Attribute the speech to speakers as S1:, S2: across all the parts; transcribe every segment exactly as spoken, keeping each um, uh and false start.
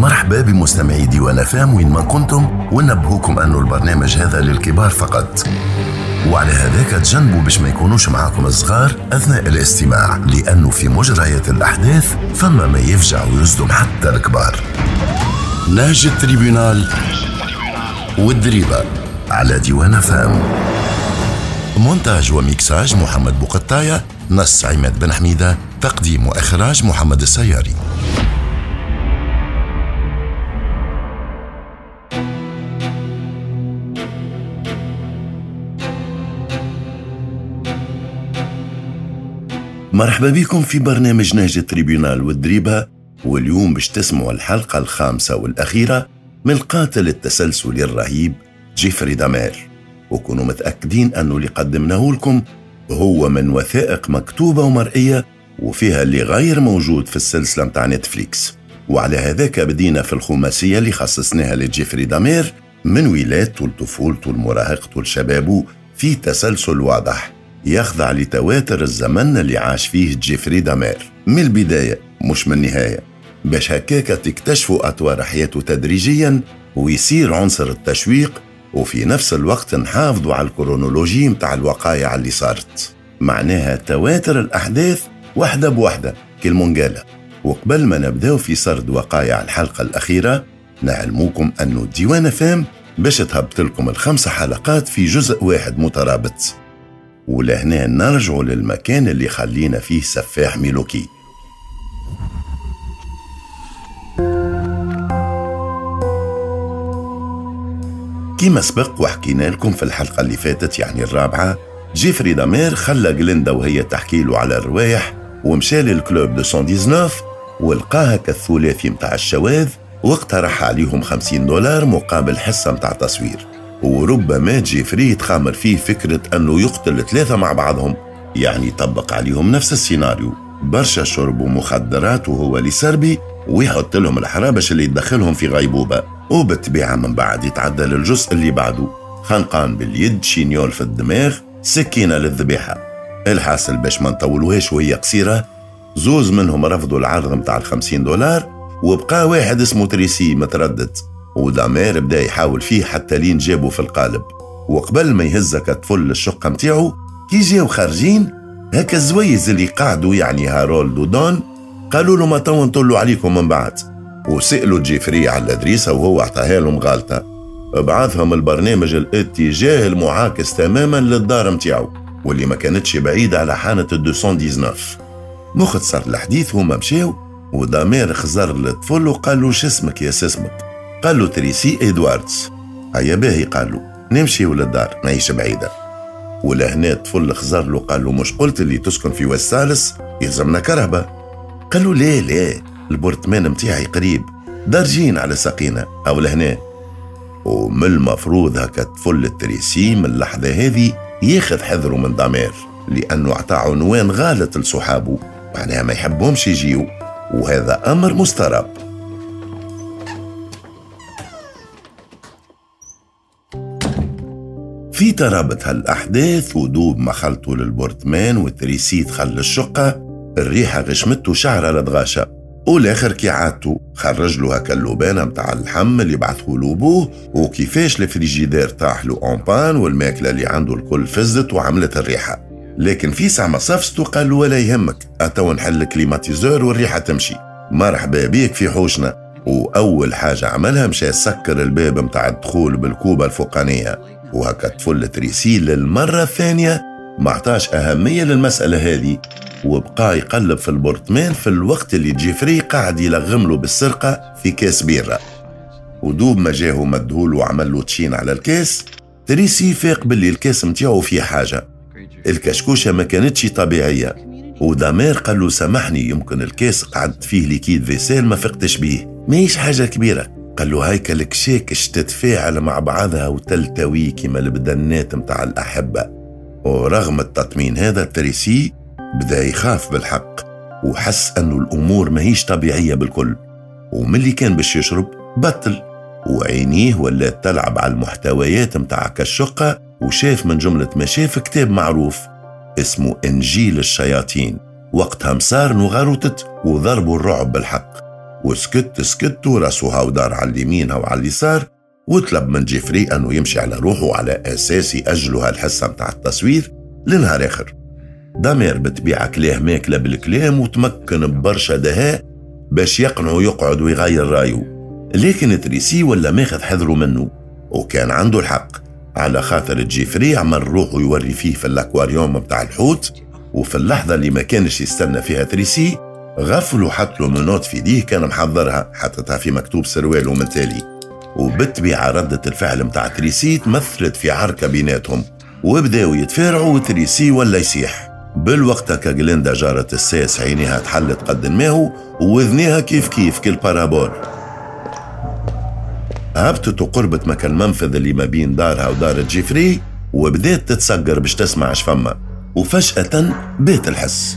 S1: مرحبا بمستمعي ديوان فام وين ما كنتم، ونبهوكم أنه البرنامج هذا للكبار فقط، وعلى هذاك تجنبوا باش ما يكونوش معاكم الصغار أثناء الاستماع، لأنه في مجريات الأحداث فما ما يفجع ويصدم حتى الكبار. نهج ال tribunal والدريبة على ديوان فام. مونتاج وميكساج محمد بوقطاية، نص عماد بن حميدة، تقديم وإخراج محمد السياري. مرحبا بكم في برنامج نهج ال tribunal والدريبة، واليوم باش تسمعوا الحلقة الخامسة والأخيرة من القاتل التسلسلي الرهيب جيفري دامير، وكونوا متأكدين أنه اللي قدمناه لكم هو من وثائق مكتوبة ومرئية وفيها اللي غير موجود في السلسلة متاع نتفليكس. وعلى هذاك بدينا في الخماسية اللي خصصناها لجيفري دامير من ولادته لطفولته لمراهقته لشبابه في تسلسل واضح يخضع لتواتر الزمن اللي عاش فيه جيفري دامير من البداية مش من النهاية، باش هكاك تكتشفوا أطوار حياته تدريجيا ويصير عنصر التشويق، وفي نفس الوقت نحافظوا على الكرونولوجي متاع الوقائع اللي صارت، معناها تواتر الأحداث واحدة بواحدة كالمونجالة. وقبل ما نبداو في سرد وقائع الحلقة الأخيرة نعلموكم أنه ديوان فام باش تهبط لكم الخمس حلقات في جزء واحد مترابط. ولهنا نرجع للمكان اللي خلينا فيه سفاح ميلوكي. كما سبق وحكينا لكم في الحلقة اللي فاتت يعني الرابعة، جيفري دامير خلى جليندا وهي تحكي له على الروايح ومشى لل club مئة وتسعة عشر ولقاها كالثلاثي متاع الشواذ، واقترح عليهم خمسين دولار مقابل حصة متاع تصوير. وربما جيفري تخامر فيه فكرة أنه يقتل ثلاثة مع بعضهم، يعني طبق عليهم نفس السيناريو، برشا شرب ومخدرات وهو اللي سربي ويحط لهم الحرابش اللي يدخلهم في غيبوبة، وبالطبيعة من بعد يتعدى للجزء اللي بعده، خنقان باليد، chignole في الدماغ، سكينة للذبيحة. الحاصل باش ما نطولوهاش وهي قصيرة، زوز منهم رفضوا العرض متاع الخمسين دولار وبقى واحد اسمه تريسي متردد، ودامير بدا يحاول فيه حتى لين جابه في القالب. وقبل ما يهزك الطفل للشقة متاعو كي جاو خارجين هكا الزويز اللي قعدوا يعني هارولد ودون قالوا له ما تو نطلوا عليكم من بعد، وسألوا جيفري على الأدريسة وهو اعطاها لهم غالطة. بعثهم البرنامج الاتجاه المعاكس تماما للدار متاعو واللي ما كانتش بعيدة على حانة مئة وتسعة عشر. مختصر الحديث هما مشاو ودامير خزر للطفل وقال له شو اسمك يا سسمك؟ قال له تريسي إدواردز. هيا باهي، قال له نمشي للدار ماهيش بعيدة. ولهنا الطفل خزر له قال له مش قلت اللي تسكن في وسالس يلزمنا كرهبة؟ قال له ليه ليه البرطمان متاعي قريب درجين على ساقينا أو لهنا. ومن المفروض هكا الطفل التريسي من اللحظة هذه ياخذ حذره من دامير، لأنه أعطى عنوان غلط لصحابه، معناها ما يحبهمش يجيو، وهذا أمر مستراب. في ترابط هالأحداث ودوب ما خلطوا للبرطمان والتريسي دخل للشقة، الريحة غشمته شعرة لدغاشة، والآخر كي عادته خرج له هكا اللبانة متاع اللحم اللي بعثه له بوه، وكيفاش الفريجيدير طاح له en panne والماكلة اللي عنده الكل فزت وعملت الريحة. لكن في ساعة ما صفسته قال له ولا يهمك، أتو نحل ال climatiseur والريحة تمشي، مرحبا بيك في حوشنا. وأول حاجة عملها مشى سكر الباب متاع الدخول بالكوبة الفوقانية، وهكا طفل تريسي للمرة الثانية ما عطاش أهمية للمسألة هذه، وبقى يقلب في البرطمان في الوقت اللي جيفري قاعد يلغم له بالسرقة في كاس بيرة. ودوب ما جاهو مدهول وعمل له تشين على الكاس، تريسي فاق باللي الكاس متاعو فيه حاجة، الكشكوشة ما كانتش طبيعية. ودامير قال له سامحني يمكن الكاس قعدت فيه liquide vaisselle ما فقتش بيه، ماهيش حاجة كبيرة. قال له هيك الكشاكش تتفاعل مع بعضها وتلتوي كما البدنات متاع الأحبة. ورغم التطمين هذا تريسي بدأ يخاف بالحق وحس أنه الأمور ماهيش طبيعية بالكل، وملي كان باش يشرب بطل، وعينيه ولات تلعب على المحتويات متاع كالشقة، وشاف من جملة ما شاف كتاب معروف اسمه إنجيل الشياطين. وقتها مسار وغروتت وضربوا الرعب بالحق، وسكت سكت وراسها ودار على اليمين وعلى اليسار، وطلب من جيفري أنه يمشي على روحه على أساس يأجلوا هالحصة متاع التصوير لنهار آخر. دامير بتبيع كلاه ماكلة بالكلام وتمكن ببرشا دهاء باش يقنعه يقعد ويغير رايه، لكن تريسي ولا ماخذ حذره منه، وكان عنده الحق على خاطر جيفري عمل روحه يوري فيه في الاكواريوم متاع الحوت، وفي اللحظة اللي ما كانش يستنى فيها تريسي غفل وحط له menottes في يديه كان محضرها، حطتها في مكتوب سرواله من تالي. وبالطبيعة ردة الفعل متاع تريسي تمثلت في عركة بيناتهم، وبداوا يتفارعوا وتريسي ولا يسيح. بالوقت كجليندا جارة الساس عينيها تحلت قد ماهو ووذنيها كيف كيف كال parabole. هبطت وقربت مكان المنفذ اللي ما بين دارها ودار جيفري وبدات تتسجر باش تسمع اش فما، وفجأة بات الحس.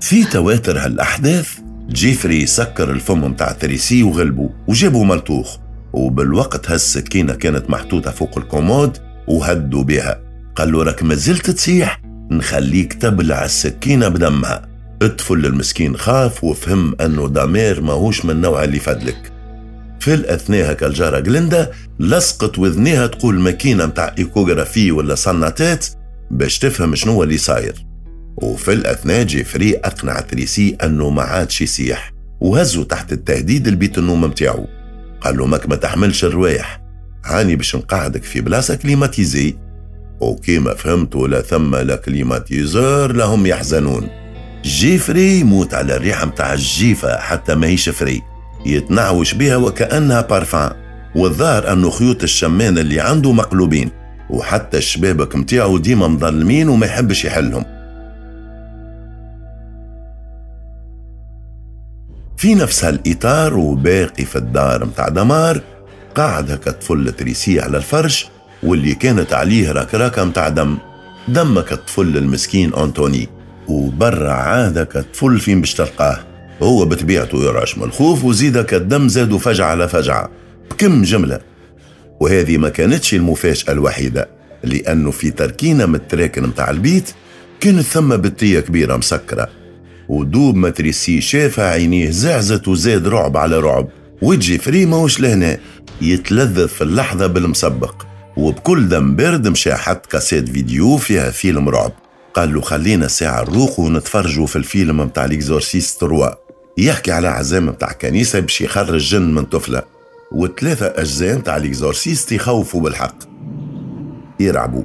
S1: في تواتر هالأحداث جيفري سكر الفم متاع تريسي وغلبه وجابه ملطوخ، وبالوقت هالسكينة كانت محطوطة فوق ال commode وهدوا بها. قال له راك مازلت تصيح نخليك تبلع السكينة بدمها. الطفل المسكين خاف وفهم أنه دامير ماهوش من النوع اللي فدلك. في الأثناء هكا الجارة جليندا لصقت وذنيها تقول ماكينة متاع échographie ولا صناتات باش تفهم شنو اللي صاير. وفي الأثناء جيفري أقنع تريسي أنه ما عادش يسيح وهزه تحت التهديد البيت النوم متاعه. قال له ماك ما تحملش الروايح، هاني باش نقعدك في بلاصة climatisée. وكيما فهمت ولا ثم لا climatiseur لهم يحزنون. جيفري يموت على الريحة متاع الجيفة حتى ماهيش فري، يتنعوش بها وكأنها بارفان، والظاهر أنه خيوط الشمان اللي عنده مقلوبين، وحتى الشبابك متاعه ديما مظلمين وما يحبش يحلهم. في نفس هالإطار وباقي في الدار متاع دمار قاعد هكا طفل تريسي على الفرش واللي كانت عليه ركراكة متاع دم، دمك الطفل المسكين أنتوني، وبرا عادك الطفل فين باش تلقاه، هو بطبيعته يرعش من الخوف وزيدك الدم زادوا فجعة على فجعة بكم جملة. وهذه ما كانتش المفاجأة الوحيدة، لأنه في تركينة من التراكن متاع البيت كانت ثم بتية كبيرة مسكرة، ودوب ما تريسي شافها عينيه زعزت وزاد رعب على رعب. وجيفري ماهوش لهنا يتلذذ في اللحظة بالمسبق، وبكل دم بارد مشى حط cassette vidéo فيها فيلم رعب. قال له خلينا ساعة نروق ونتفرجوا في الفيلم متاع L'Exorciste trois، يحكي على عزام متاع كنيسة باش يخرج جن من طفلة، وثلاثة أجزاء متاع L'Exorciste يخوفوا بالحق يرعبوا.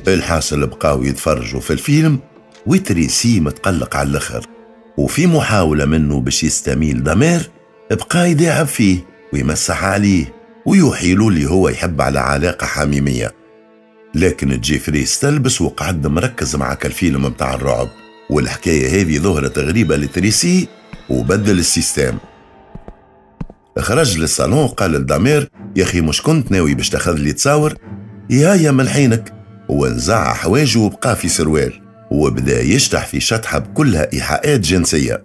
S1: الحاصل بقاو يتفرجوا في الفيلم وتريسي متقلق على الاخر، وفي محاولة منه باش يستميل دمير بقى يداعب فيه ويمسح عليه ويوحيله اللي هو يحب على علاقة حميمية. لكن جيفري استلبس وقعد مركز معك الفيلم متاع الرعب، والحكاية هذه ظهرت غريبة لتريسي وبدل ال système. خرج للصالون قال لدامير يا أخي مش كنت ناوي باش تاخذ لي تصاور؟ يا من حينك. ونزع حواجه وبقى في سروال وبدا يشطح في شطحة بكلها إيحاءات جنسية.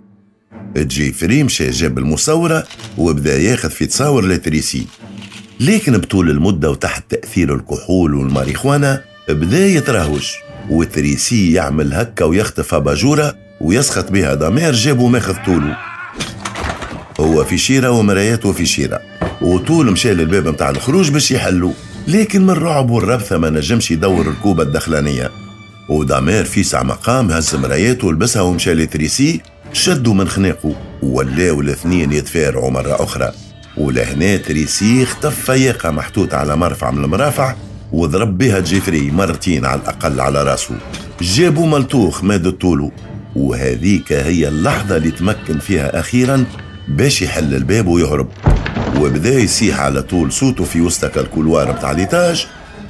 S1: جيفري مشى جاب المصورة وبدا ياخذ في تصاور لتريسي، لكن بطول المدة وتحت تأثير الكحول والماريخوانا بدا يترهوش، وتريسي يعمل هكا ويخطف باجورة ويسخط بها دامير جابو ماخذ طوله. هو في شيرة ومراياته في شيرة، وطول مشى للباب متاع الخروج باش يحلو، لكن من الرعب والربثة ما نجمش يدور الكوبة الدخلانية. ودامير في ساعة مقام هز مراياته ولبسها ومشى لتريسي، شدوا من خناقه ولاو الاثنين يتفارعوا مرة أخرى. ولهنا تريسي اختف فياقة محطوطة على مرفع من المرافع وضرب بها جيفري مرتين على الأقل على راسه، جابوا ملطوخ ماد طوله. وهذيك هي اللحظة اللي تمكن فيها أخيرا باش يحل الباب ويهرب، وبدا يسيح على طول صوته في وسط ال couloir متاع l'étage.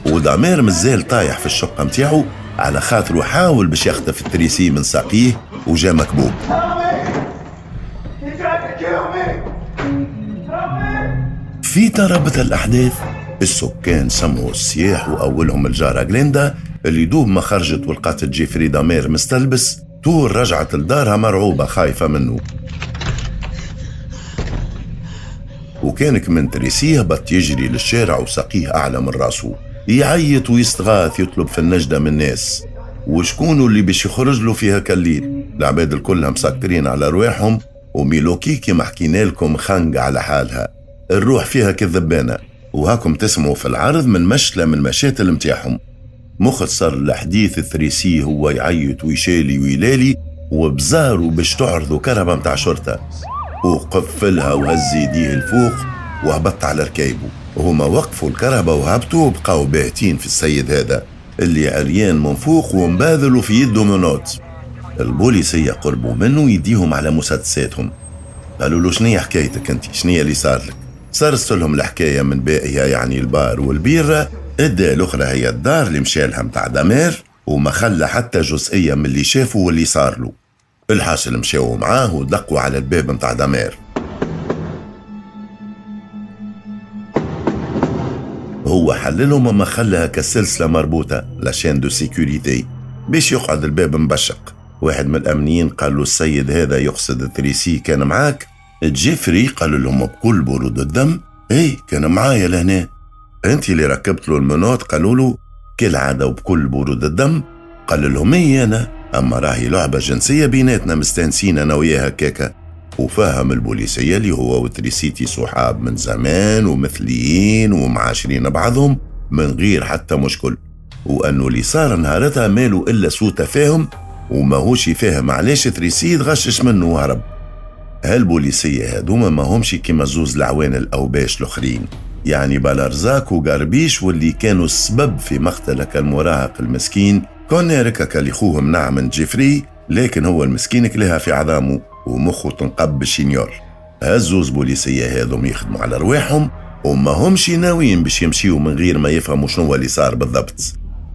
S1: ودامير مازال طايح في الشقة متاعو على خاطره حاول باش يخطف التريسي من ساقيه وجا مكبوب. في ترابط الأحداث السكان سمعوا الصياح، وأولهم الجارة جليندا اللي دوب ما خرجت ولقات جيفري دامير مستلبس طول رجعت لدارها مرعوبة خايفة منه. وكانك من تريسي هبط يجري للشارع وساقيه أعلى من راسه، يعيط ويستغاث يطلب في النجدة من الناس. وشكونوا اللي باش يخرج له في هكا الليل؟ العباد الكلها مسكرين على رواحهم، وميلوكي كما حكينا لكم خنق على حالها، الروح فيها كالذبانة. وهاكم تسمعوا في العرض من مشلة من المشاتل متاعهم. مختصر الحديث، الثريسي هو يعيط ويشالي ويلالي وبزاروا باش تعرضوا كرهبة متاع شرطة، وقفلها وهز يديه الفوق وهبط على ركايبه. وهما وقفوا الكرهبة وهبطوا وبقاو باهتين في السيد هذا اللي عريان من فوق ومباذلوا في يده menottes. البوليسية قربوا منه يديهم على مسدساتهم، قالوا له شنية حكايتك انت؟ شنية اللي صار لك؟ صارت لهم الحكاية من باقيها، يعني البار والبيرة. الدا الأخرى هي الدار اللي مشالها متاع دمار، وما خلى حتى جزئية من اللي شافه واللي صار له. الحاصل مشاو معاه ودقوا على الباب متاع دمار. هو حللهم وما خلاها كالسلسلة مربوطة، la chaîne de sécurité، باش يقعد الباب مبشق. واحد من الأمنيين قال له السيد هذا يقصد تريسي كان معاك؟ جيفري قال لهم بكل برود الدم ايه كان معايا لهنا، انت اللي ركبت له ال menottes؟ قالوا له كالعادة وبكل برود الدم قال لهم ايه انا، اما راهي لعبة جنسية بيناتنا مستانسين انا وياها كاكا. وفهم البوليسية اللي هو وتريسيتي صحاب من زمان ومثليين ومعاشرين بعضهم من غير حتى مشكل، وانه اللي صار نهارتها ماله الا سوء تفاهم، وماهوش فاهم علاش تريسي تغشش منه وهرب. هالبوليسية هذوما ما همش كيما زوز العوان الأوباش الآخرين، يعني بالارزاك وقربيش، واللي كانوا السبب في مقتلك المراهق المسكين كونيرك اللي خوه منع من جيفري، لكن هو المسكين كلها في عظامه ومخه تنقب بال chignole. هالزوز بوليسية هذوم يخدموا على رواحهم وما همش ناويين باش يمشيوا من غير ما يفهموا شنو اللي صار بالضبط.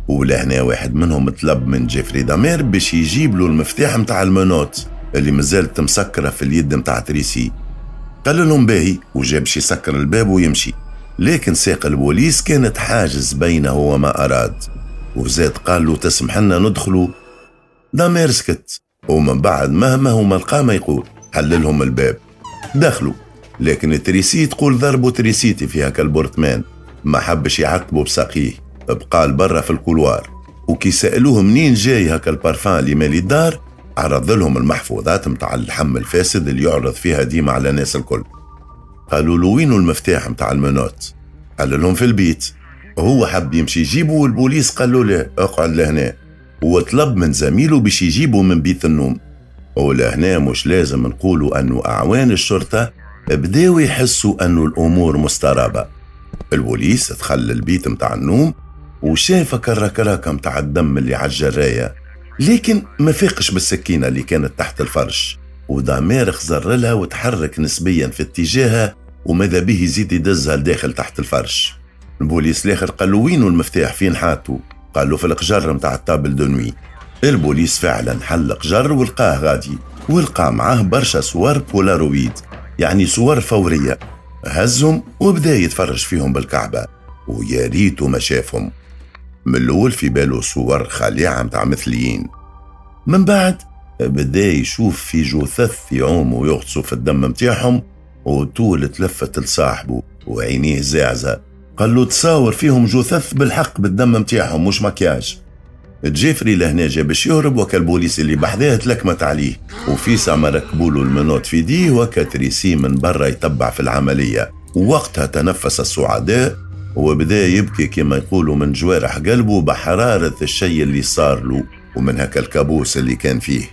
S1: ولهنا واحد منهم طلب من جيفري دامير باش يجيب له المفتاح متاع ال menottes اللي مازالت مسكرة في اليد متاع تريسي. قال لهم باهي وجاب باش يسكر الباب ويمشي، لكن ساق البوليس كانت حاجز بينه وما أراد، وزاد قال له تسمح لنا ندخلوا. دامير سكت، ومن بعد مهما هو ما لقى ما يقول حللهم الباب دخلوا. لكن تريسي تقول ضربوا تريسيتي في هكا ال appartement، ما حبش يعتبوا بساقيه، بقى برا في ال couloir. وكي سألوه منين جاي هكا البارفان اللي مالي الدار، عرض لهم المحفوظات متاع اللحم الفاسد اللي يعرض فيها ديما على الناس الكل. قالوا له وينو المفتاح متاع ال menottes؟ قال لهم في البيت. هو حب يمشي يجيبه والبوليس قال له لا اقعد لهنا، وطلب من زميله باش يجيبه من بيت النوم. ولهنا مش لازم نقولوا أنه أعوان الشرطة بداوا يحسوا أنه الأمور مسترابة. البوليس دخل البيت متاع النوم وشاف كركراكة متاع الدم اللي على الجراية، لكن ما فاقش بالسكينة اللي كانت تحت الفرش. ودامير خزر لها وتحرك نسبيا في اتجاهها، وماذا به يزيد يدزها لداخل تحت الفرش. البوليس الاخر قال له وينو المفتاح فين حاطه؟ قال له في القجر متاع ال table de nuit. البوليس فعلا حل قجر ولقاه غادي، ولقى معاه برشا صور بولارويد، يعني صور فورية. هزهم وبدا يتفرج فيهم بالكعبة، ويا ريته ما شافهم. من الأول في باله صور خليعة متاع مثليين، من بعد بدا يشوف في جثث يعوموا ويغطسوا في الدم متاعهم، وطول تلفت لصاحبه وعينيه زعزة، قال له تصاور فيهم جثث بالحق بالدم متاعهم مش مكياج. جيفري لهنا جا باش يهرب، وكا البوليس اللي بحذاه تلكمت عليه، وفيسع ما ركبوا له ال menottes في ديه، وكتريسي من برا يتبع في العملية. ووقتها تنفس السعداء وبدا يبكي كما يقولوا من جوارح قلبه بحرارة الشيء اللي صار له ومن هكا الكابوس اللي كان فيه.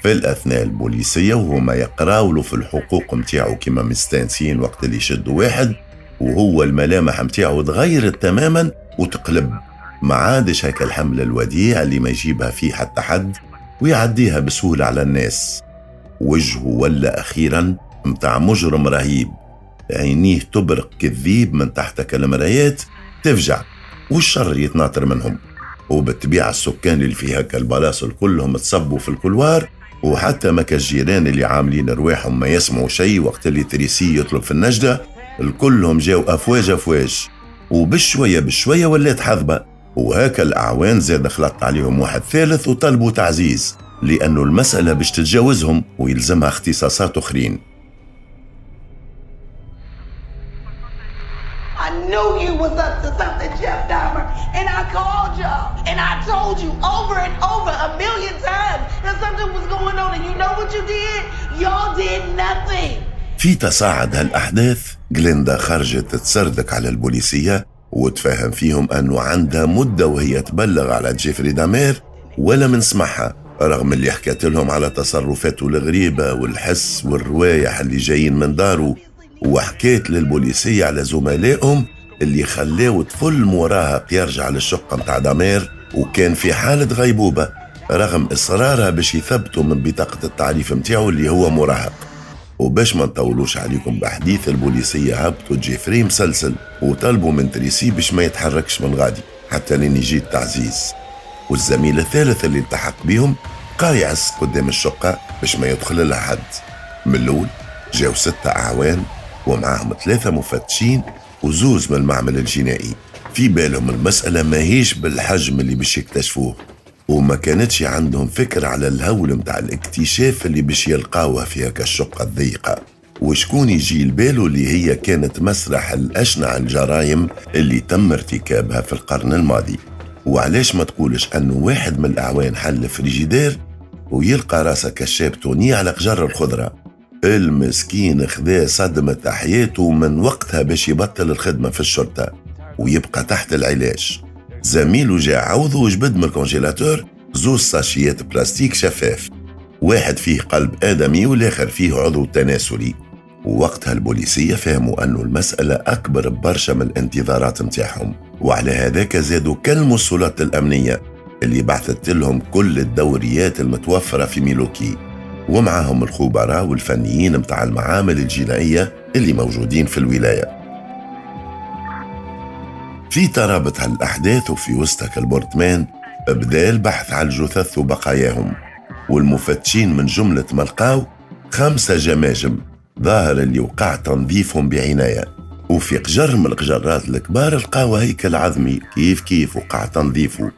S1: في الأثناء البوليسية وهما يقراولوا في الحقوق متاعو كما مستانسين وقت اللي يشدوا واحد، وهو الملامح متاعو تغيرت تماما وتقلب، ما عادش هكا الحمل الوديع اللي ما يجيبها فيه حتى حد ويعديها بسهولة على الناس. وجهه ولا أخيرا متاع مجرم رهيب، عينيه تبرق كالذيب من تحت كالمرايات تفجع والشر يتناطر منهم. وبالطبيعة السكان اللي في هكا البلاصة كلهم تصبوا في ال couloir، وحتى ما كالجيران اللي عاملين رواحهم ما يسمعوا شيء وقت اللي تريسي يطلب في النجدة، الكلهم جاو أفواج أفواج، وبشوية بشوية ولات حذبة. وهكا الأعوان زاد خلط عليهم واحد ثالث وطلبوا تعزيز، لأنه المسألة باش تتجاوزهم ويلزمها اختصاصات أخرين.
S2: knew you was up to something, Jeff Dahmer, and I called y'all, and I told you over and over a million times that something was going on, and you know what you did? Y'all did nothing.
S1: في تصاعد هالأحداث جليندا خرجت تسردك على البوليسية وتفهم فيهم أنه عندها مدة وهي تبلغ على جيفري دامير ولا من سمعها، رغم اللي حكت لهم على تصرفاته الغريبة والحس والروايح اللي جايين من داره، وحكيت للبوليسية على زملائهم اللي خلاو طفل مراهق يرجع للشقة متاع دامير وكان في حالة غيبوبة رغم إصرارها باش يثبتوا من بطاقة التعريف متاعه اللي هو مراهق. وباش ما نطولوش عليكم بحديث، البوليسية هبطوا جيفري مسلسل وطلبوا من تريسي باش ما يتحركش من غادي حتى لين يجي التعزيز. والزميل الثالث اللي التحق بيهم قايعس قدام الشقة باش ما يدخل لها حد. من الأول جاو ستة أعوان ومعاهم ثلاثة مفتشين وزوز من المعمل الجنائي. في بالهم المسألة ماهيش بالحجم اللي باش يكتشفوه، وما كانتش عندهم فكرة على الهول متاع الاكتشاف اللي باش يلقاوها في هكا الشقة الضيقة. وشكون يجي لباله اللي هي كانت مسرح الأشنع الجرائم اللي تم ارتكابها في القرن الماضي. وعلاش ما تقولش أنه واحد من الأعوان حل فريجيدير ويلقى راسه كشاب توني على قجر الخضرة. المسكين خذا صدمة حياته من وقتها باش يبطل الخدمة في الشرطة ويبقى تحت العلاج. زميله جاء عوضه وجبد من ال congélateur زوز ساشيات بلاستيك شفاف، واحد فيه قلب آدمي والآخر فيه عضو تناسلي. ووقتها البوليسية فهموا أنه المسألة أكبر برشا من الانتظارات متاعهم، وعلى هذاك زادوا كلموا السلطات الأمنية اللي بعثت لهم كل الدوريات المتوفرة في ميلوكي، ومعهم الخبراء والفنيين متاع المعامل الجنائية اللي موجودين في الولاية. في ترابط هالأحداث وفي وسطك البرطمان بدا البحث على الجثث وبقاياهم، والمفتشين من جملة ما لقاو خمسة جماجم ظاهر اللي وقع تنظيفهم بعناية. وفي قجر من القجرات الكبار لقاو هيكل عظمي كيف كيف وقع تنظيفه،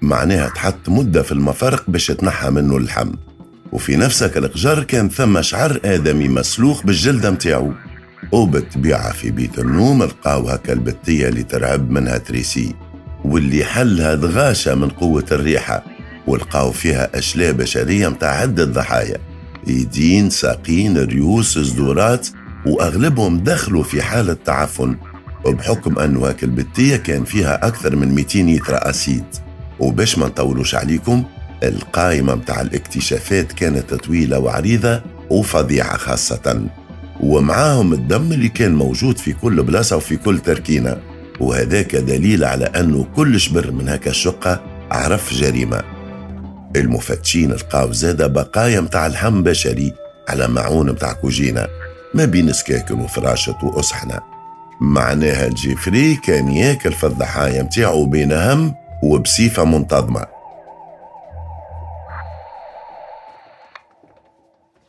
S1: معناها تحط مدة في المفارق باش تنحى منه اللحم. وفي نفسك القجر كان ثم شعر آدمي مسلوخ بالجلدة متاعو. وبالطبيعة في بيت النوم لقاو هكا البتية اللي ترعب منها تريسي واللي حلها دغاشة من قوة الريحة، ولقاو فيها أشلاء بشرية متاع عدة ضحايا، يدين، ساقين، ريوس، صدورات، وأغلبهم دخلوا في حالة تعفن، وبحكم أنه هاك البتية كان فيها أكثر من مئتين لتر acide. وباش ما نطولوش عليكم، القائمة متاع الاكتشافات كانت طويلة وعريضة وفظيعة خاصة، ومعاهم الدم اللي كان موجود في كل بلاصة وفي كل تركينة، وهذاك دليل على أنه كل شبر من هكا الشقة عرف جريمة. المفتشين لقاو زادة بقايا متاع لحم بشري على معون متاع كوجينة ما بين سكاكن وفراشة وأصحنة، معناها جيفري كان ياكل في الضحايا متاعه بين هم وبصفة منتظمة.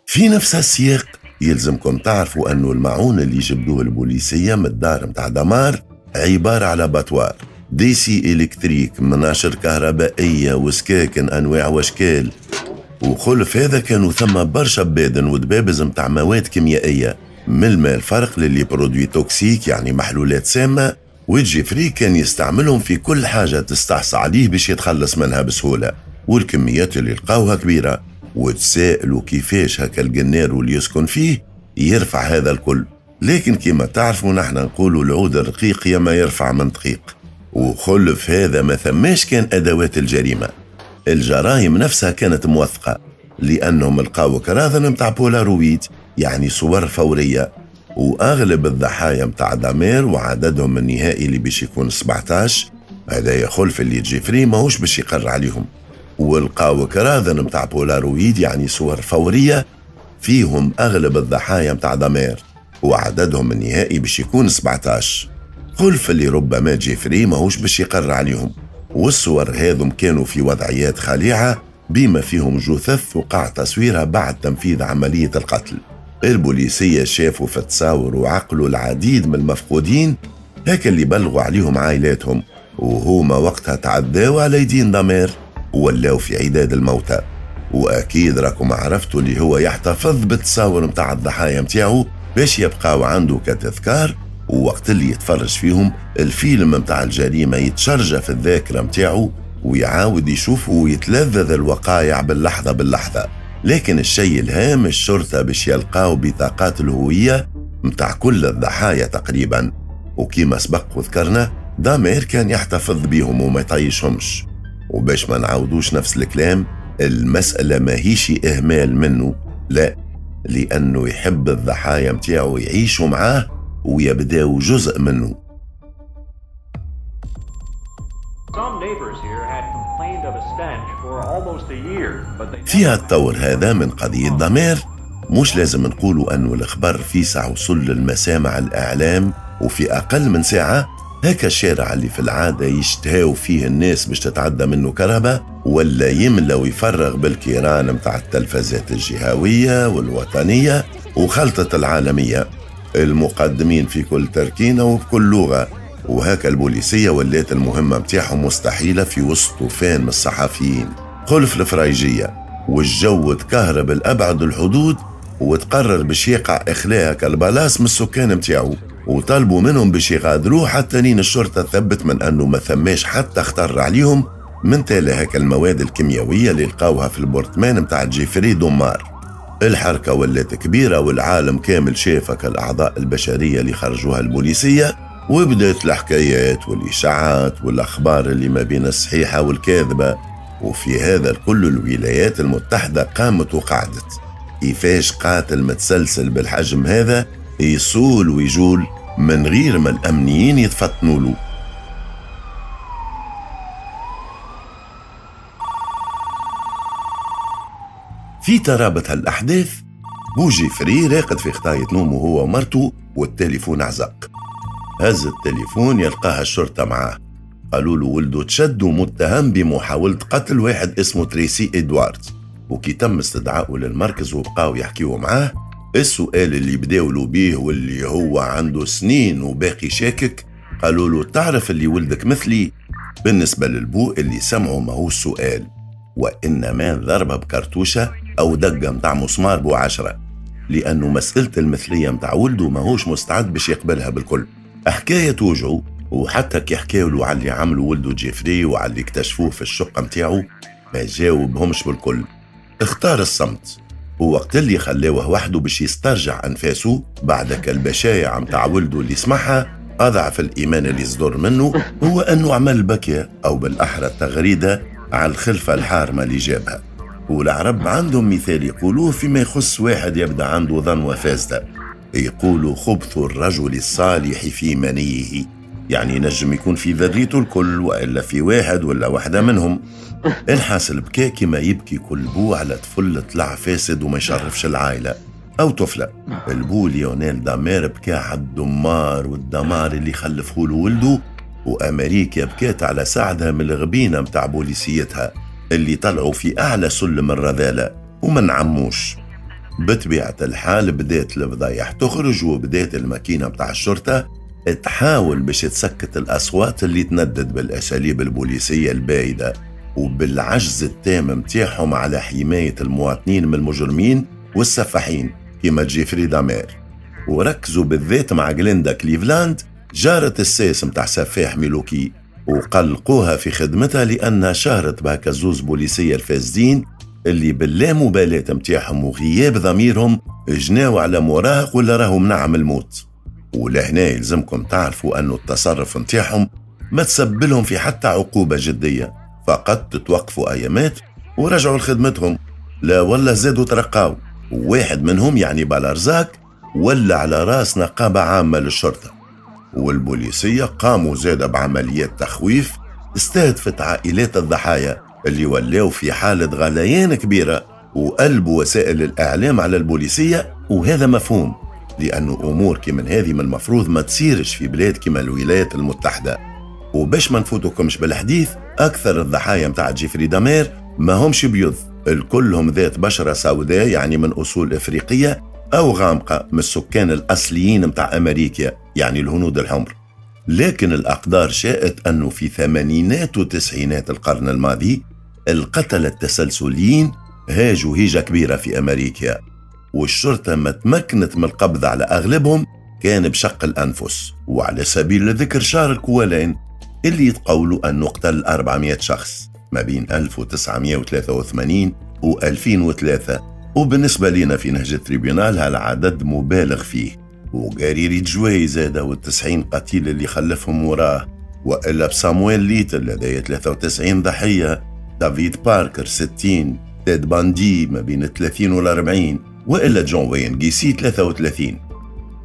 S1: في نفس السياق يلزمكم تعرفوا أنه المعون اللي جبدوه البوليسية من الدار متاع دمار عبارة على abattoir، des scies électriques، مناشر كهربائية وسكاكن أنواع وأشكال. وخلف هذا كانوا ثم برشا بادن ودبابز متاع مواد كيميائية من الماء الفرق ل les produits toxiques، يعني محلولات سامة، وجيفري كان يستعملهم في كل حاجة تستعصى عليه باش يتخلص منها بسهولة، والكميات اللي لقاوها كبيرة. وتسائلوا كيفاش هكا الجنار واللي يسكن فيه يرفع هذا الكل، لكن كما تعرفوا نحن نقولوا العود الرقيق يا ما يرفع من دقيق. وخلف هذا ما ثماش كان أدوات الجريمة، الجرائم نفسها كانت موثقة لأنهم لقاو كراذن متاع بولارويد، يعني صور فورية، وأغلب الضحايا متاع دامير وعددهم النهائي اللي باش يكون سبعتاش، هذا يخلف اللي جيفري ماهوش باش يقر عليهم. ولقاو كراذن متاع بولارويد، يعني صور فورية فيهم أغلب الضحايا متاع دامير وعددهم النهائي باش يكون سبعتاش، خلف اللي ربما جيفري ماهوش باش يقر عليهم. والصور هذم كانوا في وضعيات خليعة بما فيهم جثث وقع تصويرها بعد تنفيذ عملية القتل. البوليسية شافوا في التصاور وعقلوا العديد من المفقودين هكا اللي بلغوا عليهم عائلاتهم، وهما وقتها تعداوا على يدين دامير وولاو في عداد الموتى. وأكيد راكم عرفتوا اللي هو يحتفظ بالتصاور متاع الضحايا متاعو باش يبقاو عنده كتذكار ووقت اللي يتفرج فيهم الفيلم متاع الجريمة يتشرجى في الذاكرة متاعه ويعاود يشوفه ويتلذذ الوقايع باللحظة باللحظة. لكن الشيء الهام الشرطة باش يلقاو بطاقات الهوية متاع كل الضحايا تقريبا، وكما سبق وذكرنا دامير كان يحتفظ بيهم وما يطيشهمش. وباش ما نعاودوش نفس الكلام، المسألة ما هيش إهمال منه، لا، لأنه يحب الضحايا متاعه يعيشوا معاه ويبداو جزء منه. في هالطور هذا من قضية دامير مش لازم نقولوا أنه الخبر في ساعة وصل للمسامع الإعلام، وفي أقل من ساعة هكا الشارع اللي في العادة يشتهاو فيه الناس باش تتعدى منه كهرباء ولا يملى ويفرغ بالكيران متاع التلفزات الجهوية والوطنية وخلطة العالمية، المقدمين في كل تركينة وبكل لغة. وهكا البوليسية ولات المهمة متاعهم مستحيلة في وسط طوفان من الصحفيين، خلف الفرايجية والجو تكهرب لأبعد الحدود، وتقرر باش يقع إخلاء كالبلاص من السكان متاعو، وطلبوا منهم باش يغادروه حتى لين الشرطة ثبت من أنه ما ثماش حتى خطر عليهم من تالي هكا المواد الكيميائية اللي لقاوها في البرطمان متاع جيفري دومار. الحركة ولات كبيرة والعالم كامل شافك الأعضاء البشرية اللي خرجوها البوليسية، وبدأت الحكايات والإشاعات والأخبار اللي ما بين الصحيحة والكاذبة. وفي هذا الكل الولايات المتحدة قامت وقعدت، كيفاش قاتل متسلسل بالحجم هذا يصول ويجول من غير ما الأمنيين يتفطنوا له. في ترابط هالأحداث بو جيفري راقد في خطاية نومه هو ومرته والتليفون عزق. هز التليفون يلقاها الشرطة معاه، قالوا له ولده تشد ومتهم بمحاولة قتل واحد اسمه تريسي إدواردز. وكي تم استدعائه للمركز وبقاو يحكيوا معاه، السؤال اللي بداولوا بيه واللي هو عنده سنين وباقي شاكك، قالوا له تعرف اللي ولدك مثلي؟ بالنسبة للبو اللي سمعوا ما هو السؤال، وإنما ضربة بكرتوشة أو دقة متاع مسمار بو عشرة، لأنه مسألة المثلية متاع ولده ماهوش مستعد باش يقبلها بالكل. حكاية توجعه، وحتى كي حكاولوا على اللي عملوا ولده جيفري وعلى اللي اكتشفوه في الشقة متاعه ما جاوبهمش بالكل، اختار الصمت. ووقت اللي خلاوه وحده باش يسترجع أنفاسه بعد كالبشايع متاع ولده اللي سمعها، أضعف الإيمان اللي صدر منه هو أنه عمل بكية أو بالأحرى تغريدة على الخلفة الحارمة اللي جابها. والعرب عندهم مثال يقولوه فيما يخص واحد يبدأ عنده ظنوة فاسدة، يقولوا خبث الرجل الصالح في منيه، يعني نجم يكون في ذريته الكل وإلا في واحد ولا واحدة منهم. الحاصل بكى كما يبكي كل بو على طفل طلع فاسد وما يشرفش العائلة أو طفلة. البو ليونيل دامير بكى على الدمار والدمار اللي خلفه له ولده، وأمريكا بكات على سعدها من الغبينة متاع بوليسيتها اللي طلعوا في أعلى سلم الرذالة وما نعموش. بطبيعة الحال بدات الفضايح تخرج، وبدات الماكينة متاع الشرطة تحاول باش تسكت الأصوات اللي تندد بالأساليب البوليسية البايدة وبالعجز التام متاعهم على حماية المواطنين من المجرمين والسفاحين كما جيفري دامير. وركزوا بالذات مع جليندا كليفلاند جارة الساس متاع سفاح ميلوكي، وقلقوها في خدمتها لأنها شهرت بهكا زوز بوليسية الفاسدين اللي باللامبالاة متاعهم وغياب ضميرهم جناو على مراهق ولا راهو منعم الموت. ولهنا يلزمكم تعرفوا أنه التصرف متاعهم ما تسبلهم في حتى عقوبة جدية، فقط تتوقفوا أيامات ورجعوا لخدمتهم، لا ولا زادوا ترقاو. وواحد منهم يعني بالارزاك ولا على راس نقابة عامة للشرطة. والبوليسية قاموا زادة بعمليات تخويف استهدفت عائلات الضحايا اللي ولاو في حالة غليان كبيرة، وقلبوا وسائل الإعلام على البوليسية. وهذا مفهوم، لأنه أمور كمن هذه من المفروض ما تصيرش في بلاد كما الولايات المتحدة. وباش ما نفوتكمش بالحديث، أكثر الضحايا متاع جيفري دامير ما همش بيض، الكلهم ذات بشرة سوداء يعني من أصول إفريقية أو غامقة من السكان الأصليين متاع أمريكا يعني الهنود الحمر. لكن الأقدار شاءت أنه في ثمانينات وتسعينات القرن الماضي القتلة التسلسليين هاجوا هيجة كبيرة في أمريكا، والشرطة ما تمكنت من القبض على أغلبهم كان بشق الأنفس. وعلى سبيل الذكر شارل كوالين اللي يتقولوا أنه قتل أربعمائة شخص ما بين ألف وتسعمائة وثلاثة وثمانين و ألفين وثلاثة، وبالنسبة لنا في نهج التريبيونال هالعدد مبالغ فيه. وغاري ريدجواي زاد والتسعين قتيل اللي خلفهم وراه، وإلا بسامويل ليتل لديه ثلاثة وتسعين ضحية، دافيد باركر ستين، تيد باندي ما بين ثلاثين والأربعين، وإلا جون وين جيسي ثلاثة وثلاثين.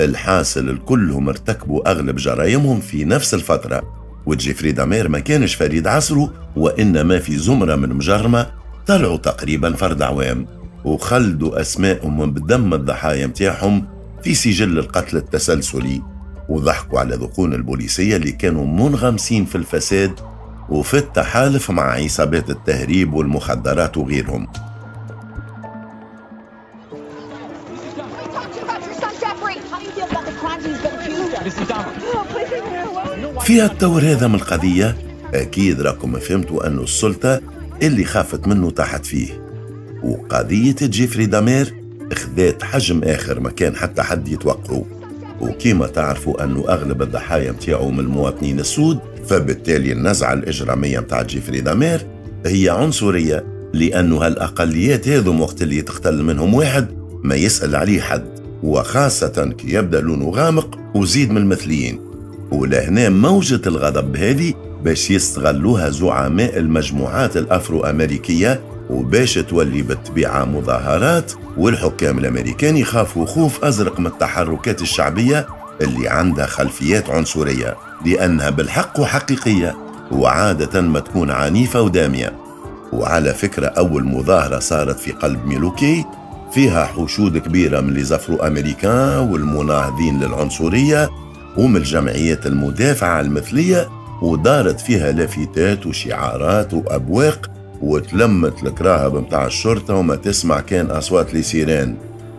S1: الحاصل الكلهم ارتكبوا أغلب جرائمهم في نفس الفترة، وجيفري دامير ما كانش فريد عصره، وإنما في زمرة من مجرمة طلعوا تقريبا فرد عوام وخلدوا أسمائهم بدم الضحايا متاعهم في سجل القتل التسلسلي، وضحكوا على ذقون البوليسية اللي كانوا منغمسين في الفساد وفي التحالف مع عصابات التهريب والمخدرات وغيرهم. في التور هذا من القضية أكيد راكم فهمتوا أن السلطة اللي خافت منه تحت فيه، وقضية جيفري دامير اخذت حجم آخر ما كان حتى حد يتوقعه. وكما تعرفوا أنه أغلب الضحايا متاعه من المواطنين السود، فبالتالي النزعة الإجرامية متاع جيفري دامير هي عنصرية، لأنه هالأقليات هذم وقت اللي تقتل منهم واحد ما يسأل عليه حد، وخاصة كي يبدأ لونه غامق وزيد من المثليين. ولهنا موجة الغضب هذه باش يستغلوها زعماء المجموعات الأفرو أمريكية، وباش تولي بالطبيعة مظاهرات، والحكام الأمريكان يخافوا خوف أزرق من التحركات الشعبية اللي عندها خلفيات عنصرية، لأنها بالحق وحقيقية وعادة ما تكون عنيفة ودامية. وعلى فكرة أول مظاهرة صارت في قلب ميلوكي فيها حشود كبيرة من les Afro-Américains والمناهضين للعنصرية ومن الجمعيات المدافعة عن المثلية، ودارت فيها لافتات وشعارات وأبواق، وتلمت الكراهب متاع الشرطة وما تسمع كان أصوات les sirènes.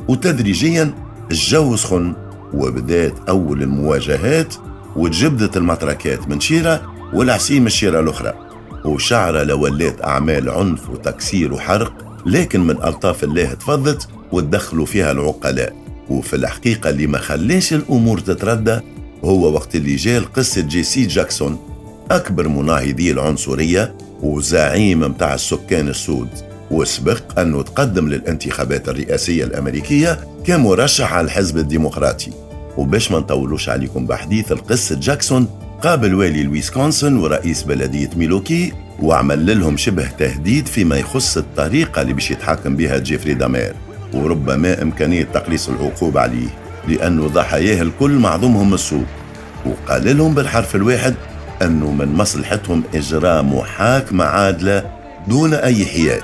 S1: وتدريجيا الجو سخن، وبدات أول المواجهات، وتجبدت المطركات من شيرة والعسي من الشيرة الأخرى، وشعرة لولات أعمال عنف وتكسير وحرق، لكن من ألطاف الله تفضت وتدخلوا فيها العقلاء. وفي الحقيقة اللي ما خلاش الأمور تتردى هو وقت اللي جاء قصة جيسي جاكسون، أكبر مناهضي العنصرية وزعيم متاع السكان السود، وسبق أنه تقدم للانتخابات الرئاسية الأمريكية كمرشح على الحزب الديمقراطي. وباش ما نطولوش عليكم بحديث القصة، جاكسون قابل والي الويسكونسن ورئيس بلدية ميلوكي وعمل لهم شبه تهديد فيما يخص الطريقة اللي باش يتحاكم بها جيفري دامير، وربما إمكانية تقليص العقوبة عليه لأنه ضحاياه الكل معظمهم السود. وقال لهم بالحرف الواحد أنه من مصلحتهم إجراء محاكمة عادلة دون أي حياد.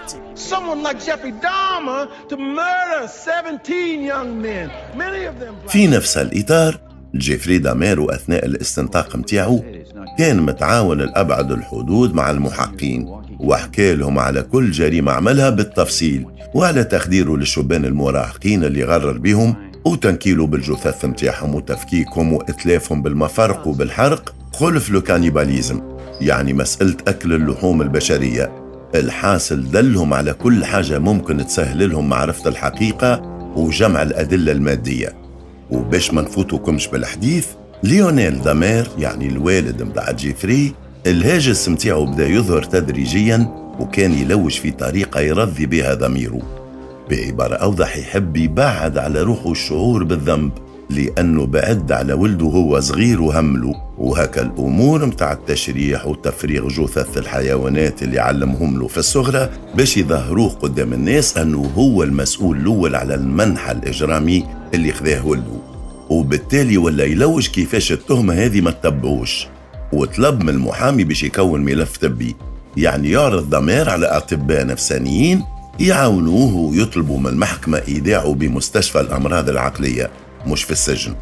S1: في نفس الإطار جيفري دامير أثناء الاستنطاق متاعه كان متعاون لأبعد الحدود مع المحقين، وحكى لهم على كل جريمة عملها بالتفصيل، وعلى تخديره للشبان المراهقين اللي غرر بهم، وتنكيله بالجثث متاعهم وتفكيكهم وإتلافهم بالمفرق وبالحرق، خلف le cannibalisme، يعني مسألة أكل اللحوم البشرية. الحاصل دلهم على كل حاجة ممكن تسهل لهم معرفة الحقيقة وجمع الأدلة المادية. وباش ما نفوتكمش بالحديث، ليونيل دامير يعني الوالد متاع جيفري الهاجس متاعه بدا يظهر تدريجيا، وكان يلوج في طريقة يرضي بها ضميره. بعبارة أوضح يحب يبعد على روحه الشعور بالذنب، لأنه بعد على ولده هو صغير وهمله. وهكا الأمور متاع التشريح وتفريغ جثث الحيوانات اللي علمهم له في الصغرى باش يظهروه قدام الناس أنه هو المسؤول الأول على المنحى الإجرامي اللي خذاه ولده، وبالتالي ولا يلوج كيفاش التهمة هذه ما تتبعوش. وطلب من المحامي باش يكون ملف طبي، يعني يعرض دامير على أطباء نفسانيين يعاونوه ويطلبوا من المحكمة إيداعه بمستشفى الأمراض العقلية مش في السجن.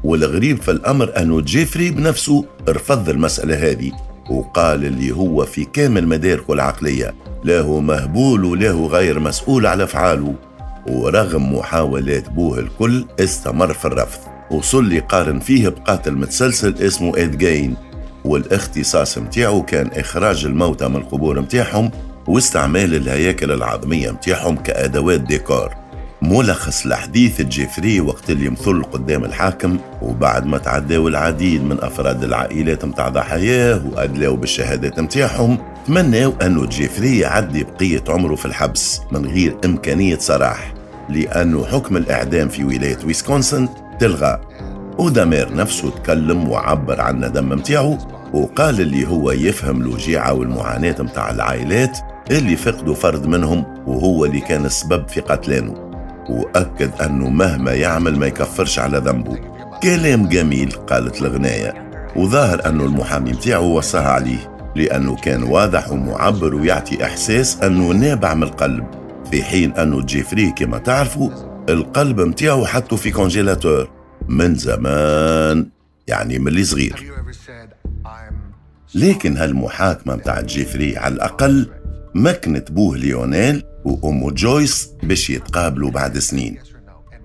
S1: والغريب في الأمر أنه جيفري بنفسه رفض المسألة هذه، وقال اللي هو في كامل مداركه العقلية لا هو مهبول ولا هو غير مسؤول على أفعاله. ورغم محاولات بوه الكل استمر في الرفض، وصل يقارن فيه بقاتل متسلسل اسمه إد جين، والاختصاص متاعه كان إخراج الموتى من القبور متاعهم واستعمال الهياكل العظمية متاعهم كأدوات ديكور. ملخص الحديث جيفري وقت اللي مثل قدام الحاكم، وبعد ما تعداو العديد من أفراد العائلات متاع ضحاياه وأدلاو بالشهادات متاعهم، تمناو أنه جيفري يعدي بقية عمره في الحبس من غير إمكانية سراح، لأنه حكم الإعدام في ولاية ويسكونسن تلغى. ودامير نفسه تكلم وعبر عن الندم متاعه، وقال اللي هو يفهم الوجيعة والمعاناة متاع العائلات اللي فقدوا فرد منهم وهو اللي كان السبب في قتلانه، وأكد أنه مهما يعمل ما يكفرش على ذنبه. كلام جميل قالت الغناية، وظاهر أنه المحامي متاعه وصاها عليه لأنه كان واضح ومعبر ويعطي إحساس أنه نابع من القلب، في حين أنه جيفري كما تعرفوا القلب متاعه حطه في congélateur من زمان، يعني من اللي صغير. لكن هالمحاكمة متاع جيفري على الأقل مكنت بوه ليونيل وأمه جويس باش يتقابلوا بعد سنين،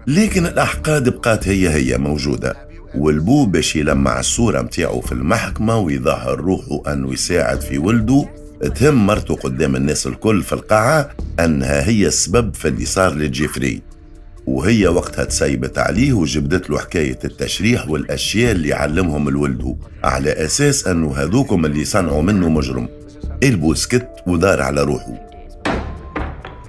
S1: لكن الأحقاد بقات هي هي موجودة، والبو باش يلمع الصورة متاعه في المحكمة ويظهر روحه أنه يساعد في ولده. تهم مرته قدام الناس الكل في القاعة أنها هي السبب في اللي صار لجيفري، وهي وقتها تسيبت عليه وجبدت له حكاية التشريح والأشياء اللي علمهم الولده على أساس أنه هذوكم اللي صنعوا منه مجرم. البو سكت ودار على روحه.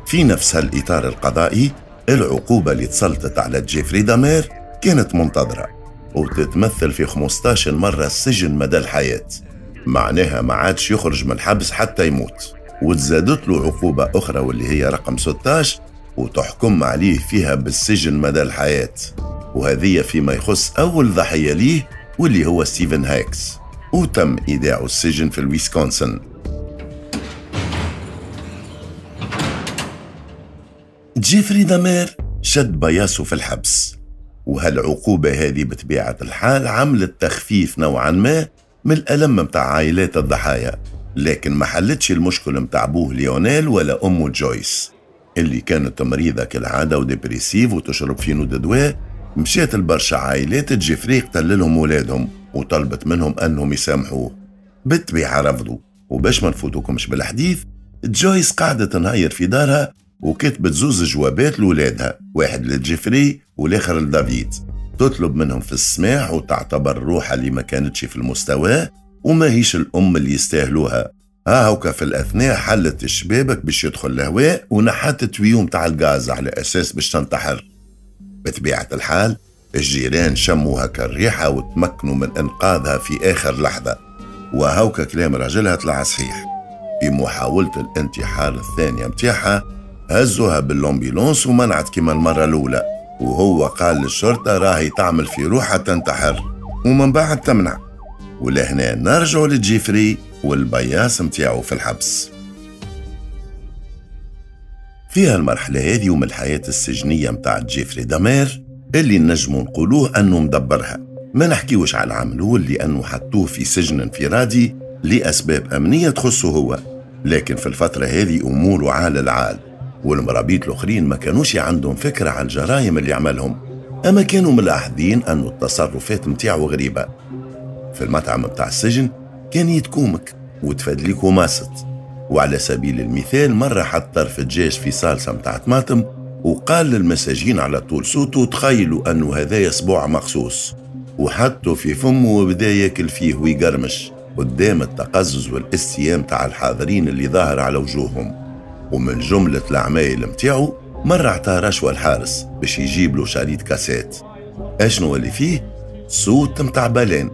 S1: في نفس هالإطار القضائي، العقوبة اللي تسلطت على جيفري دامير كانت منتظرة وتتمثل في خمسة عشر مرة السجن مدى الحياة، معناها ما عادش يخرج من الحبس حتى يموت. وتزادت له عقوبة أخرى واللي هي رقم ستة عشر وتحكم عليه فيها بالسجن مدى الحياة، وهذه فيما يخص أول ضحية ليه واللي هو ستيفن هاكس، وتم إيداعه السجن في الويسكونسن. جيفري دامير شد بياسه في الحبس، وهالعقوبة هذه بطبيعة الحال عملت تخفيف نوعا ما من الألم متاع عائلات الضحايا، لكن ما حلتش المشكل متاع بوه ليونيل ولا أمه جويس اللي كانت مريضة كالعادة و dépressive وتشرب في نود دواء. مشات البرشا عائلات جيفري قتل لهم ولادهم وطلبت منهم أنهم يسامحوه، بالطبيعة رفضوا. وباش ما نفوتوكمش بالحديث، جويس قعدت تنهير في دارها وكتبت زوز جوابات لولادها، واحد لجيفري والآخر لدافيد، تطلب منهم في السماح وتعتبر روحها اللي ما كانتش في المستوى وما هيش الأم اللي يستاهلوها. ها هوكا في الأثناء حلت الشبابك باش يدخل الهواء ونحت tuyau متاع الغاز على أساس باش تنتحر. بطبيعة الحال الجيران شموها كالريحة وتمكنوا من إنقاذها في آخر لحظة، وهوكا كلام راجلها طلع صحيح. في محاولة الانتحار الثانية متاعها هزوها بال ambulance ومنعت كما المرة الأولى، وهو قال للشرطة راهي تعمل في روحها تنتحر ومن بعد تمنع. ولهنا نرجعوا لجيفري والبياس متاعه في الحبس. في هالمرحلة هذه ومن الحياة السجنية متاع جيفري دامير اللي نجموا نقولوه أنه مدبرها، ما نحكيوش على العام الأول لأنه حطوه في سجن انفرادي لأسباب أمنية تخصه هو، لكن في الفترة هذه أموره عال العال، والمرابيط الآخرين ما كانوش عندهم فكرة على الجرائم اللي عملهم، أما كانوا ملاحظين أنه التصرفات متاعه غريبة. في المطعم متاع السجن كان يتكومك وتفدليك وماسط، وعلى سبيل المثال مرة حط طرف دجاج في صالصة متاع طماطم وقال للمساجين على طول صوته تخيلوا أنه هذا صبوع مخصوص، وحطه في فمه وبدا ياكل فيه ويقرمش قدام التقزز والاستيام تاع الحاضرين اللي ظاهر على وجوههم. ومن جملة العمايل متاعه مرة عطاه رشوة الحارس باش يجيب له شريط كاسيت اشنو اللي فيه صوت متاع baleine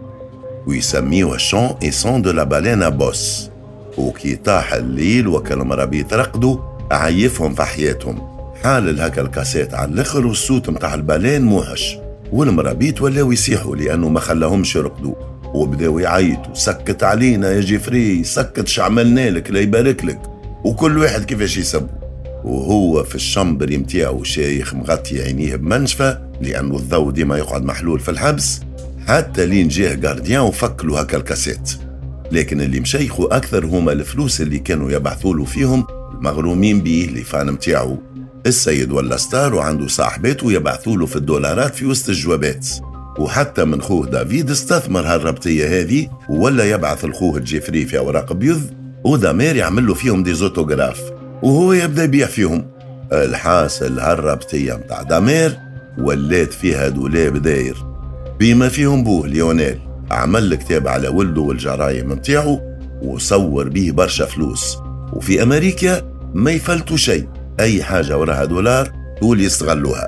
S1: ويسميوه chant et son de la baleine à bosse. وكي طاح الليل وكل مرابيط رقدوا عيفهم في حياتهم، حال هكا الكاسيت على الاخر والصوت متاع ال baleine موحش، والمرابيط ولاو يصيحوا لانه ما خلاهمش يرقدوا وبداو يعيطوا سكت علينا يا جيفري، سكت شعملنا لك لا يبارك لك، وكل واحد كيفاش يسبوا. وهو في ال chambre متاعو شايخ مغطي عينيه بمنشفة لأنه الضوء ديما يقعد محلول في الحبس، حتى لين جاه gardien وفك له هكا الكاسيت. لكن اللي مشيخوا أكثر هما الفلوس اللي كانوا يبعثوا له فيهم المغرومين بيه les fans متاعو. السيد ولا star وعنده صاحباته يبعثوا له في الدولارات في وسط الجوابات، وحتى من خوه دافيد استثمر هالربطية هذه ولا يبعث لخوه جيفري في أوراق بيض ودامير يعمل له فيهم des autographes وهو يبدا يبيع فيهم. الحاصل هالربطية متاع دامير ولات فيها دولاب داير بما فيهم بوه ليونيل، عمل كتاب على ولده والجرايم متاعه وصور بيه برشا فلوس. وفي أمريكا ما يفلتوا شيء، أي حاجة وراها دولار طول يستغلوها.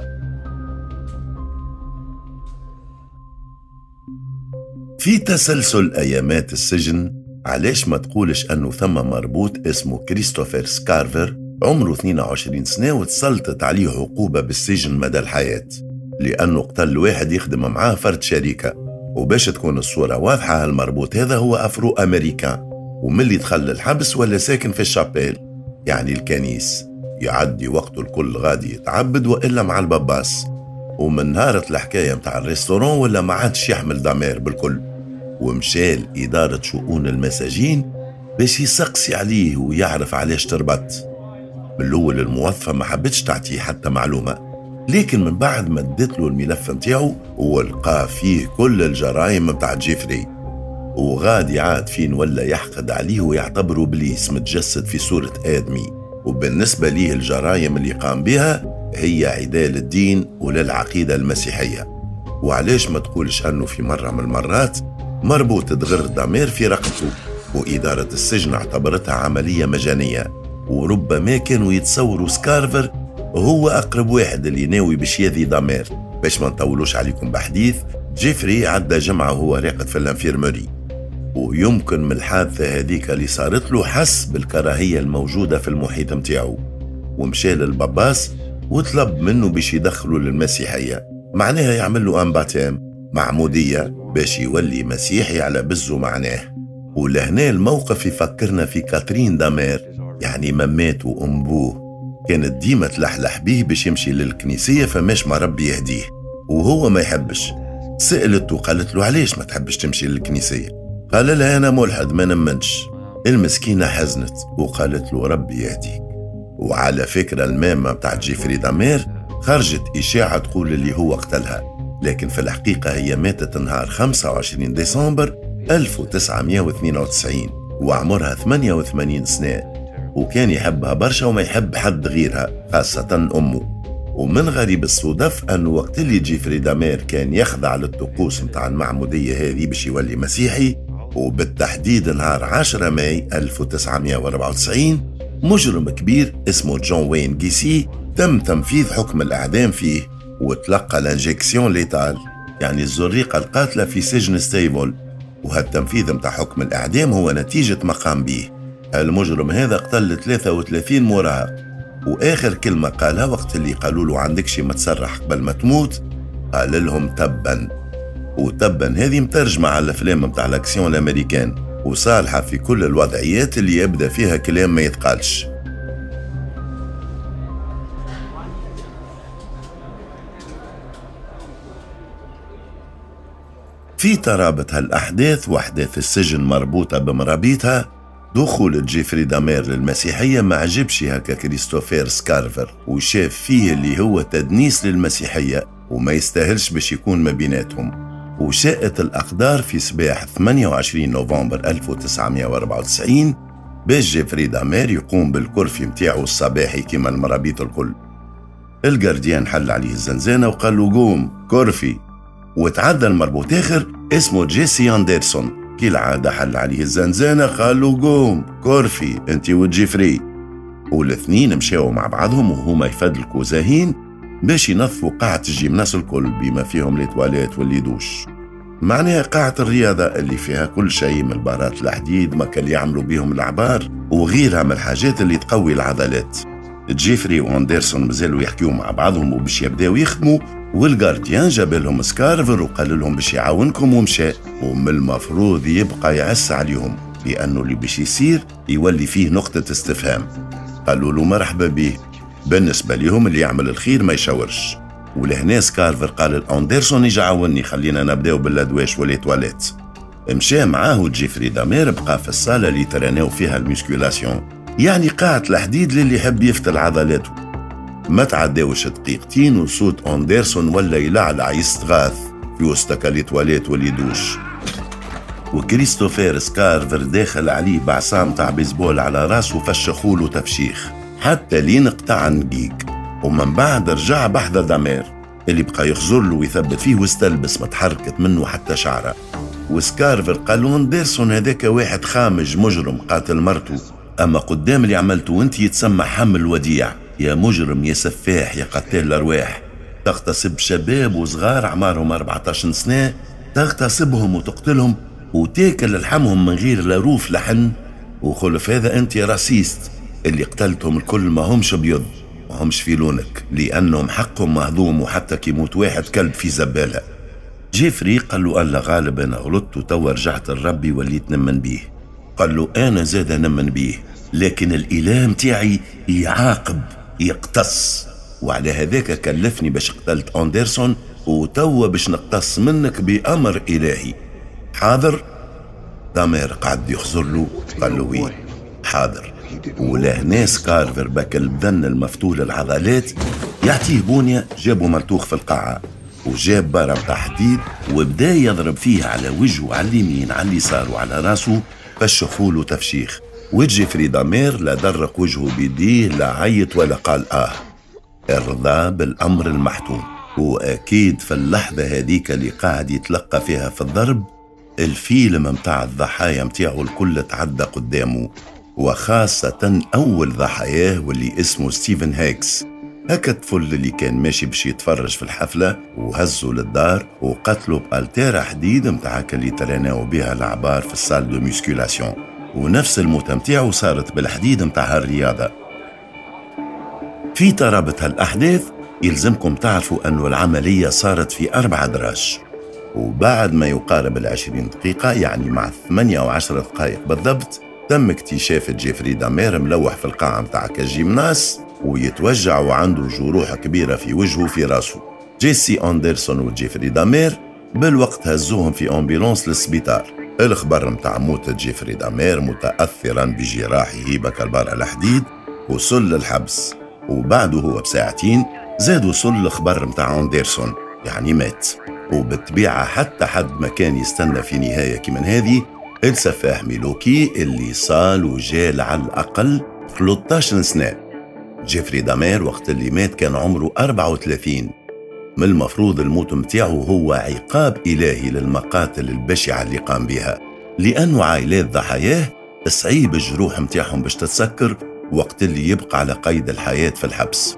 S1: في تسلسل أيامات السجن، علاش ما تقولش أنه ثم مربوط اسمه كريستوفر سكارفر، عمره اثنين وعشرين سنة، وتسلطت عليه عقوبة بالسجن مدى الحياة لأنه قتل واحد يخدم معاه فرد شركة. وباش تكون الصورة واضحة، المربوط هذا هو أفرو أمريكان، وملي دخل الحبس ولا ساكن في ال chapelle يعني الكنيس، يعدي وقته الكل غادي يتعبد وإلا مع الباباس. ومن نهارة الحكاية متاع ال restaurant ولا ما عادش يحمل دامير بالكل، ومشى لإدارة شؤون المساجين باش يسقسي عليه ويعرف علاش تربط. من الأول الموظفة ما حبتش تعطيه حتى معلومة، لكن من بعد مدت له الملف متاعه ولقى فيه كل الجرائم متاع جيفري. وغادي عاد فين ولا يحقد عليه ويعتبره بليس متجسد في صورة آدمي، وبالنسبة ليه الجرائم اللي قام بها هي عداء للدين وللعقيدة المسيحية. وعلاش ما تقولش أنه في مرة من المرات مربوط تغر دامير في رقبته، وإدارة السجن اعتبرتها عملية مجانية، وربما كانوا يتصوروا سكارفر هو أقرب واحد اللي ناوي باش يذي دامير. باش ما نطولوش عليكم بحديث، جيفري عدى جمعة وهو راقد في ال infirmerie، ويمكن من الحادثة هذيك اللي صارت له حس بالكراهية الموجودة في المحيط متاعه، ومشى للباباس وطلب منه باش يدخله للمسيحية، معناها يعمل له un baptême معمودية باش يولي مسيحي على بزه معناه. ولهنا الموقف يفكرنا في كاترين دامير، يعني ممات وأم بوه كانت ديما تلحلح بيه باش يمشي للكنيسية فماش ما ربي يهديه، وهو ما يحبش. سألته وقالت له علاش ما تحبش تمشي للكنيسية؟ قال لها أنا ملحد ما نمنش. المسكينة حزنت وقالت له ربي يهديك. وعلى فكرة المامة بتاعت جيفري دامير خرجت إشاعة تقول اللي هو قتلها، لكن في الحقيقة هي ماتت نهار خمسة وعشرين ديسمبر ألف وتسعمائة واثنين وتسعين وعمرها ثمانية وثمانين سنة، وكان يحبها برشا وما يحب حد غيرها خاصة أمه. ومن غريب الصدف أنه وقت اللي جيفري دامير كان يخضع للطقوس متاع المعمودية هذه باش يولي مسيحي، وبالتحديد نهار عشرة ماي ألف وتسعمائة وأربعة وتسعين، مجرم كبير اسمه جون وين جيسي تم تنفيذ حكم الإعدام فيه، وتلقى l'injection létale يعني الزريقة القاتلة في سجن ستيفول. وهالتنفيذ متاع حكم الإعدام هو نتيجة ما قام به. المجرم هذا قتل ثلاثة وثلاثين مراهق، وآخر كلمة قالها وقت اللي قالوا له عندك شي ما تسرح قبل ما تموت، قال لهم تبا. وتبا هذه مترجمة على الأفلام متاع الأكسيون الأمريكان، وصالحة في كل الوضعيات اللي يبدأ فيها كلام ما يتقالش. في ترابط هالأحداث وأحداث السجن مربوطة بمرابيتها، دخول جيفري دامير للمسيحية ما عجبش هكا كريستوفير سكارفر، وشاف فيه اللي هو تدنيس للمسيحية وما يستاهلش باش يكون ما بيناتهم. وشاءت الأقدار في صباح ثمانية وعشرين نوفمبر ألف وتسعمائة وأربعة وتسعين باش جيفري دامير يقوم بال curfew متاعه الصباحي كما المرابيط الكل. ال gardien حل عليه الزنزانة وقال له قوم curfew، وتعدى المربوط آخر اسمه جيسي أندرسون، كالعادة حل عليه الزنزانة قال له قوم curfew انت وجيفري. والاثنين مشاو مع بعضهم وهما يفدلكوا زاهين باش ينظفوا قاعة ال gymnase الكل بما فيهم les toilettes و les douches، معناها قاعة الرياضة اللي فيها كل شيء من البارات الحديد ما كان يعملوا بيهم العبار وغيرها من الحاجات اللي تقوي العضلات. جيفري واندرسون مازالوا يحكيوا مع بعضهم وباش يبداو يخدموا، وال gardien جاب لهم سكارفر وقال لهم باش يعاونكم ومشى، ومن المفروض يبقى يعس عليهم لأنه اللي باش يصير يولي فيه نقطة استفهام. قالوا له مرحبا به، بالنسبة لهم اللي يعمل الخير ما يشاورش. ولهنا سكارفر قال لأندرسون يجي عاوني خلينا نبداو بالأدواش و les toilettes. مشى معاه جيفري دامير بقى في الصالة اللي تراناو فيها ال musculation، يعني قاعة الحديد للي يحب يفتل عضلاته. ما تعداوش دقيقتين وصوت أندرسون ولا يلعلع يستغاث في وسط les toilettes و les douches، وكريستوفير سكارفر داخل عليه بعصا متاع بيسبول على راسه فشخوله تفشيخ حتى لين قطع نقيق. ومن بعد رجع بحذا دامير اللي بقى يخزر له ويثبت فيه واستلبس، ما تحركت منه حتى شعره. وسكارفر قال له أندرسون هذاك واحد خامج مجرم قاتل مرته، أما قدام اللي عملته وانت يتسمى حمل وديع، يا مجرم يا سفاح يا قتال الأرواح، تغتصب شباب وصغار أعمارهم أربعة عشر سنة، تغتصبهم وتقتلهم وتاكل لحمهم من غير لا روف لحن، وخلف هذا انت raciste، اللي قتلتهم الكل ما همش بيض ما همش في لونك، لأنهم حقهم مهضوم، وحتى كي يموت واحد كلب في زبالة. جيفري قال له الله غالب أنا غلطت وتوا رجعت لربي وليت نمن بيه. قال له أنا زاد نمن بيه، لكن الإله متاعي يعاقب يقتص، وعلى هذاك كلفني باش قتلت أندرسون، وتوا باش نقتص منك بأمر إلهي. حاضر؟ دامير قعد يخزر له، قال له oui حاضر. ولهنا سكارفر بك البدن المفتول العضلات يعطيه بونية، جابه ملتوخ في القاعة وجاب barre متاع حديد وبدا يضرب فيه على وجهه على اليمين على اليسار وعلى راسه، فشخوله تفشيخ. وجيفري دامير لا درق وجهه بيديه لا عيط ولا قال آه، ارضى بالأمر المحتوم. وأكيد في اللحظة هذيك اللي قاعد يتلقى فيها في الضرب، الفيلم متاع الضحايا متاعه الكل تعدى قدامه، وخاصة أول ضحاياه واللي اسمه ستيفن هيكس، هكا الطفل اللي كان ماشي باش يتفرج في الحفلة وهزه للدار وقتله ب haltère حديد متاع اللي تريناو بها العبار في ال salle de musculation، ونفس الموتة متاعه صارت بالحديد متاع هالرياضة. في ترابط هالأحداث يلزمكم تعرفوا أنه العملية صارت في أربعة دراج، وبعد ما يقارب العشرين دقيقة يعني مع ثمانية وعشر دقائق بالضبط تم اكتشاف جيفري دامير ملوح في القاعة متاع ال gymnase ويتوجع وعنده جروح كبيرة في وجهه في راسه. جيسي أندرسون وجيفري دامير بالوقت هزوهم في ambulance للسبيطار. الخبر متاع موت جيفري دامير متأثرا بجراحه بك ال barre الحديد وصل للحبس، وبعده هو بساعتين زاد وصل الخبر متاع أندرسون يعني مات. وبالطبيعة حتى حد ما كان يستنى في نهاية كمن هذه السفاح ميلوكي اللي صال وجال على الأقل ثلاثة عشر سنة. جيفري دامير وقت اللي مات كان عمره أربعة وثلاثين. من المفروض الموت متاعه هو عقاب إلهي للمقاتل البشعة اللي قام بها، لأنه عائلات ضحاياه صعيب الجروح متاعهم باش تتسكر وقت اللي يبقى على قيد الحياة في الحبس.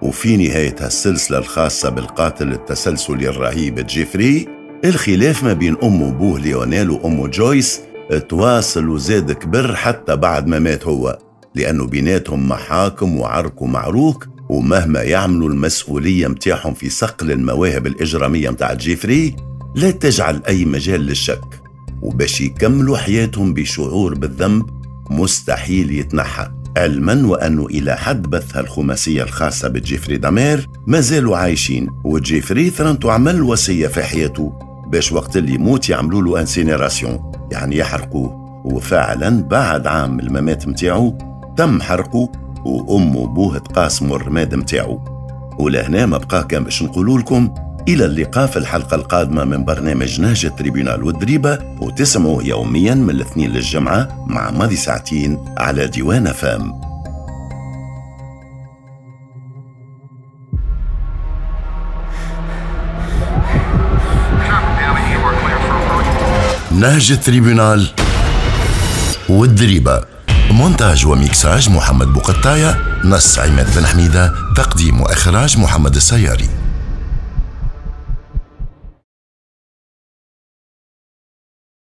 S1: وفي نهاية هالسلسلة الخاصة بالقاتل التسلسلي الرهيب جيفري، الخلاف ما بين أمه وبوه ليونيل وأمه جويس تواصل وزاد كبر حتى بعد ما مات هو، لأنه بيناتهم محاكم وعرك ومعروك، ومهما يعملوا المسؤولية متاعهم في صقل المواهب الإجرامية متاع جيفري لا تجعل أي مجال للشك، وباش يكملوا حياتهم بشعور بالذنب مستحيل يتنحى. علما وأنه إلى حد بث الخماسية الخاصة بجيفري دامير ما زالوا عايشين، وجيفري ثرنتو عمل وصية في حياته باش وقت اللي يموت يعملوا له incinération يعني يحرقوه، وفعلا بعد عام الممات متاعه تم حرقه وأمه وبوه تقاسموا الرماد متاعه. ولهنا ما بقى كان باش نقولوا لكم إلى اللقاء في الحلقة القادمة من برنامج نهج التريبيونال والدريبة، وتسمعوه يوميا من الاثنين للجمعة مع ماضي ساعتين على ديوان فام. نهج التريبيونال والدريبة، مونتاج وميكساج محمد بوقطاية، نص عماد بن حميدة، تقديم وإخراج محمد السياري.